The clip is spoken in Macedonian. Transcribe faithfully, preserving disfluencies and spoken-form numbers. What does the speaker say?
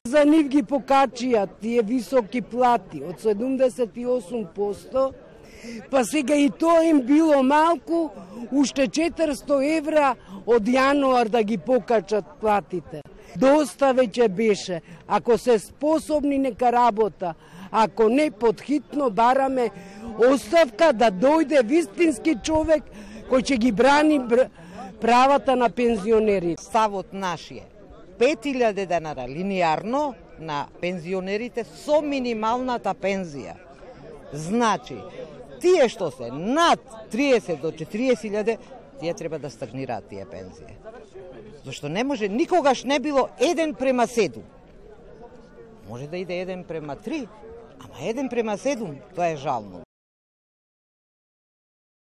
За нив ги покачија тие високи плати од седумдесет и осум проценти, па сега и тоа им било малку, уште четиристо евра од јануар да ги покачат платите. Доста веќе беше, ако се способни нека работа, ако не подхитно бараме оставка да дојде вистински човек кој ќе ги брани правата на пензионерите. Ставот наш е пет илјади денара линеарно на пензионерите со минималната пензија. Значи, тие што се над триесет до четириесет илјади, тие треба да стагнираат тие пензии. Зашто не може, никогаш не било еден према седум. Може да иде еден према три, ама еден према седум, тоа е жално.